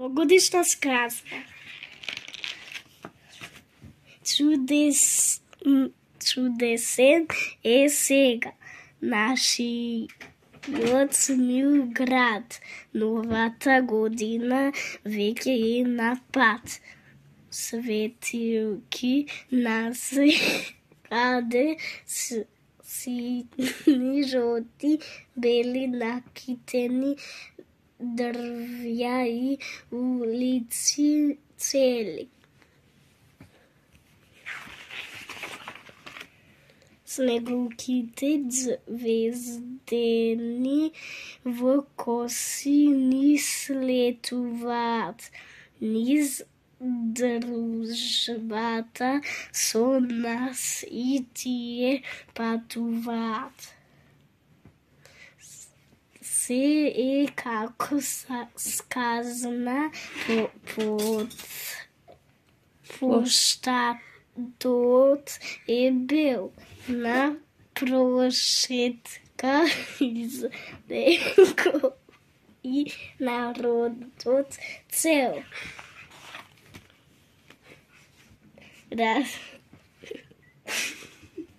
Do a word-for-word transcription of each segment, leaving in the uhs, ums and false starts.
новогодишна сказка. Чудес, чудесен е сега нашиот мил град. Новата година веќе е на пат. Светилки нас каде сини, жолти, бели, накитени дрвја и улици цели. Снегулките звездени во коси ни слетуваат низ дружбата со нас и тие патуваат. Се е како сказна по, под поштатот е бил на прошетка изделко и народот цел. Раз,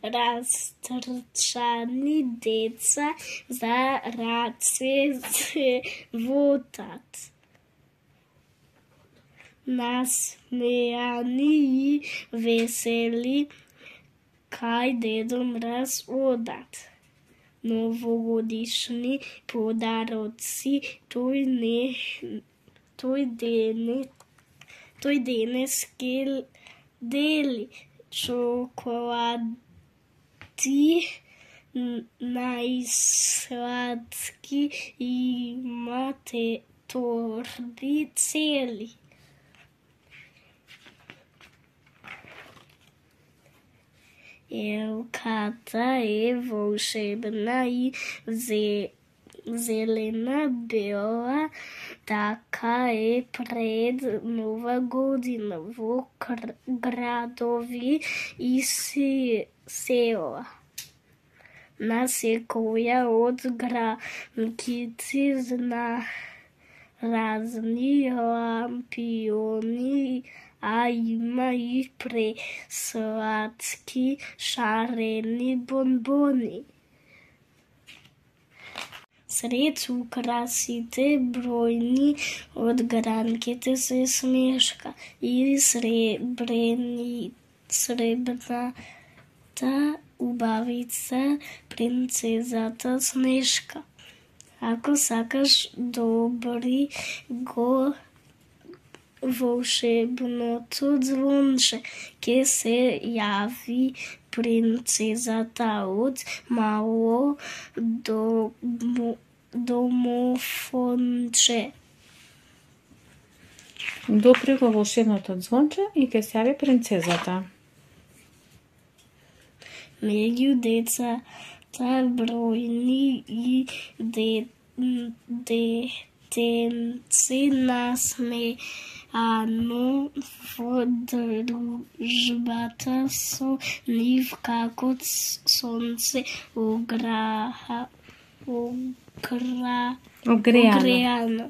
растрчани деца за раце се вотат. Насмејани и весели кај Дедо Мраз одат. Новогодишни подароци тој не тој дене тој денес ке дели. Чоколади најсладки имате торби цели. Елката е волшебна и зелена, бела, така е пред нова година во градови и села. На секоја од гранките зна разни лампиони, а има и пресладки шарени бонбони. Сред украсите бројни од гранките се снежка и сребрени, сребрната убавица принцезата Снежка. Ако сакаш добри го волшебното звонче, ке се јави принцезата од мало домофонче. Допри го волшебното звонче и ке се јави принцезата. Меѓу децата бројни и детенци насмеано во дружбата со нив како сонце огреано.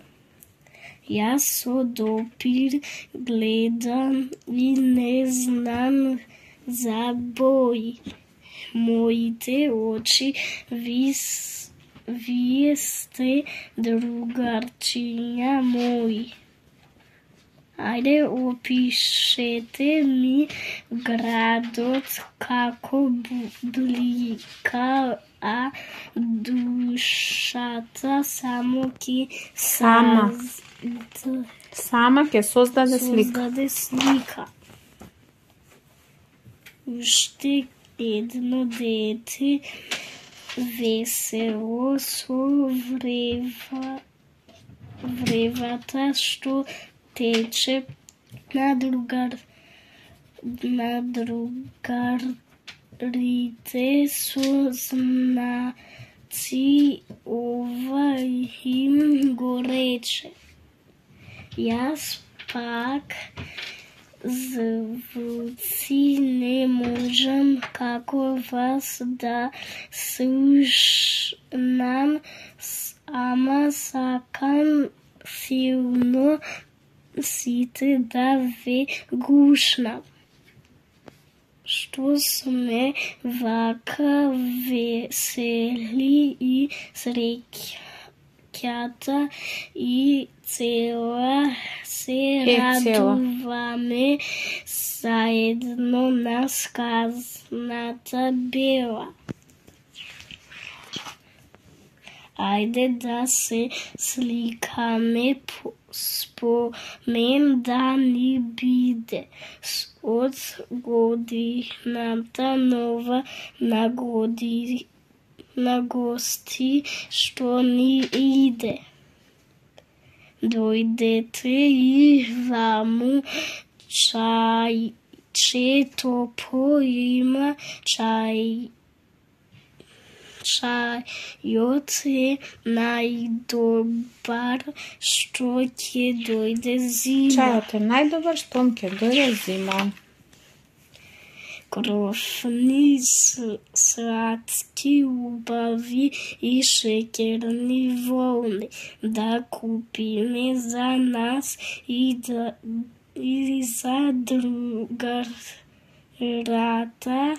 Јас со допир гледам и не знам за бој. Моите очи вис, вие сте другарчиња мои. Ајде, опишете ми градот како блика, а душата само ки Сама. Сама ќе создаде слика. Создаде слика. Уште едно дете весело со врева, вревата што тече на другар на другарите со знаци, ова им го рече. Јас пак звуци не можам како вас да слушнам, ама сакам силно сите да ве гушнам. Што сме вака весели и среќата и цела се радуваме заедно на сказната бела. Ајде да се сликаме, спомен да ни биде од годината нова на годи на гости што ни иде. Дојдете и ваму чајче топло има, чај Чајот е најдобар што ќе дојде зима. Чајот е најдобар што ќе дојде зима. Кровни, сладки, убави и шеќерни волни да купиме за нас и, да, и за другарата.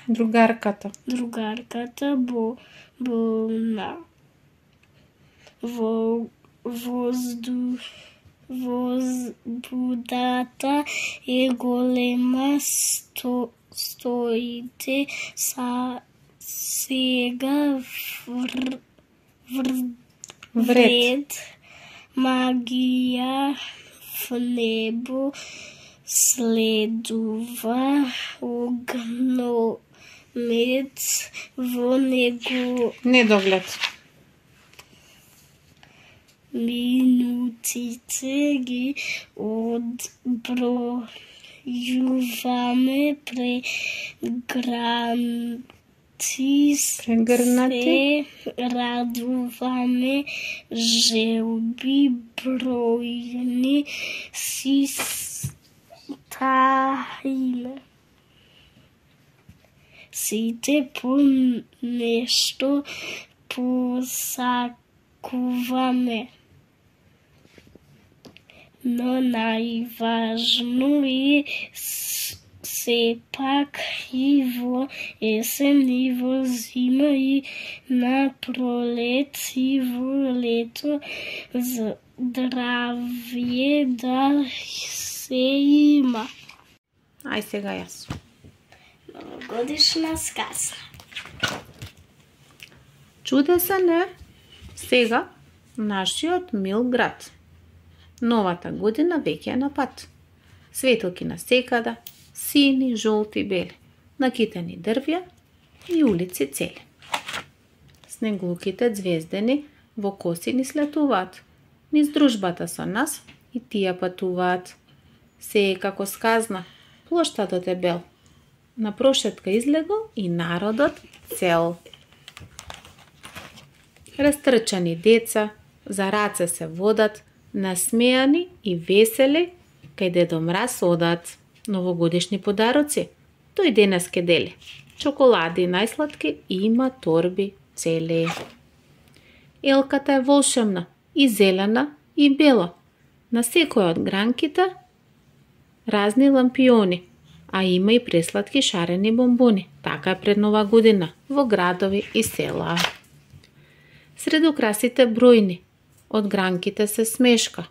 Другарката. Другарката бо болна. Во воздух возбудата е голема, сто, стоите са сега вр, вр, вред. Магија в небо следува огномет во него. Недоглед. Минутите ги одбројуваме прегранти, Прегрнати. се радуваме, желби бројни си таиме. Сите по нешто посакуваме, но најважно е сепак и во есен, и во зима, и на пролет, и во лето здравје да се има. Ај сега јас. Новогодишна сказка. Чудесен е сега нашиот мил град. Новата година веќе е на пат. Светилки на секада, сини, жолти, бели, накитени дрвја и улици цели. Снегулките звездени во коси ни слетуваат, низ дружбата со нас и тие патуваат. Се е како сказна, плоштадот е бел, на прошетка излегол и народот цел. Растрчани деца, за раце се водат, насмејани и весели, кај Дедо Мраз одат. Новогодишни подароци, тој денес ке дели. Чоколади најсладки има торби цели. Елката е волшебна, и зелена, и бела. На секој од гранките разни лампиони, а има и пресладки шарени бомбони. Така е пред Нова година во градови и села. Сред украсите бројни, од гранките се смешка.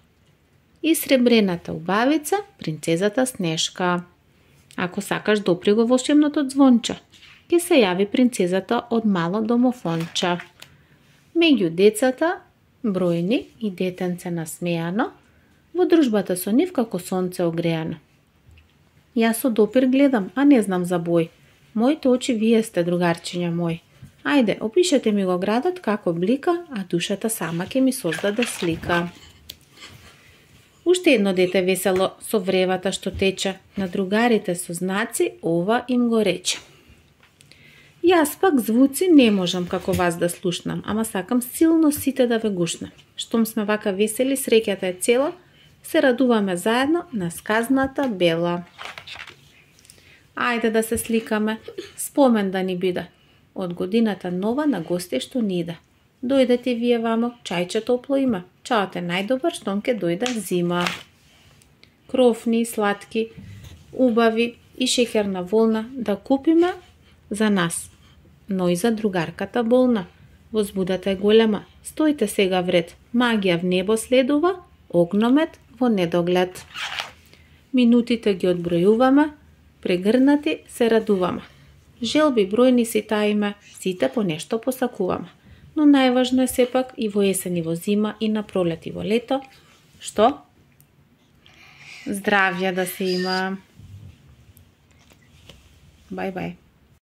И сребрената убавица, принцезата Снешка. Ако сакаш допри го волшебното звонче, ќе се јави принцезата од мало домофонче. Меѓу децата, бројни и детенце насмејано, во дружбата со нив како сонце огреано. Јас со допир гледам, а не знам за бој. Моите очи вие сте, другарчиња мој. Ајде, опишете ми го градот како блика, а душата сама ќе ми создаде слика. Уште едно дете весело со вревата што тече, на другарите со знаци ова им го рече. Јас пак звуци не можам како вас да слушнам, ама сакам силно сите да ве гушнам. Штом сме вака весели, среќата е цела, се радуваме заедно на сказната бела. Ајде да се сликаме, спомен да ни биде, од годината нова на гости што ни иде. Дојдете вие вамо, чајче топло има, чаот е најдобар штом ке дојде зима. крофни, сладки, убави и шеќерна волна да купиме за нас, но и за другарката болна. Возбудата е голема. Стоите сега вред. Магија в небо следува, огномет во недоглед. Минутите ги одбројуваме, прегрнати се радуваме. Желби бројни си таиме, сите по нешто посакуваме. Но најважно е сепак и во есен и во зима и на пролет и во лето, што? Здравје да се има. Бај бај.